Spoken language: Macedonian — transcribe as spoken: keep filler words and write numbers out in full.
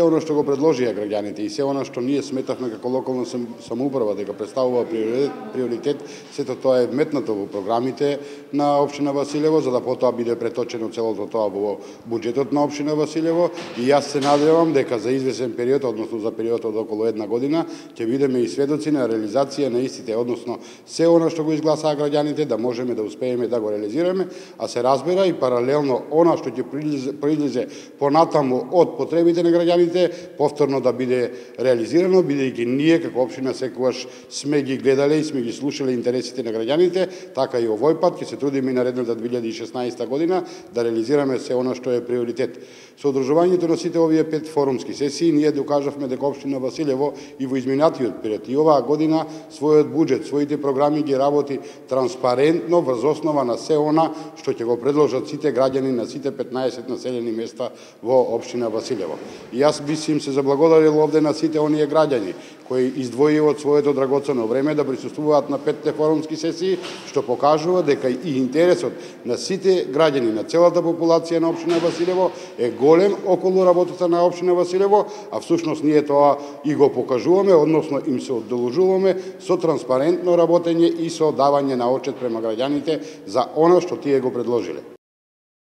она што го предложија граѓаните и се она што ние сметавме како локална самоуправа дека представува приоритет, сето тоа е вметнато во програмите на општина Василево, за да потоа биде преточено целото тоа во буџетот на општина Василево, и јас се надевам дека за извесен период, односно за период од околу една година, ќе бидеме и сведоци на реализација на истите, односно се она што го изгласаа граѓаните да можеме да успееме да го реализираме, а се разбира и паралелно она што ќе произлезе понатаму од потребите на граѓаните повторно да биде реализирано, бидејќи ние како општина секогаш сме ги гледале и сме ги слушале интересите на граѓаните, така и овој пат ќе се трудиме и наредната две илјади и шеснаесета година да реализираме се она што е приоритет. Со одржувањето на сите овие пет форумски сесии ние докажавме дека општина Василево и во изминатиот период и оваа година својот буџет, своите програми ги работи транспарентно врз основа на се она што ќе го предложат сите граѓани на сите петнаесет населени места во општина Василево. И јас би им се заблагодарил овде на сите оние граѓани кои издвоија од своето драгоцено време да присуствуваат на петте форумски сесии, што покажува дека и интересот на сите граѓани, на целата популација на општина Василево е голем околу работата на општина Василево, а всушност ние тоа и го покажуваме, односно им се одолжуваме со транспарентно работење и со давање на отчет према граѓаните за она што тие го предложиле.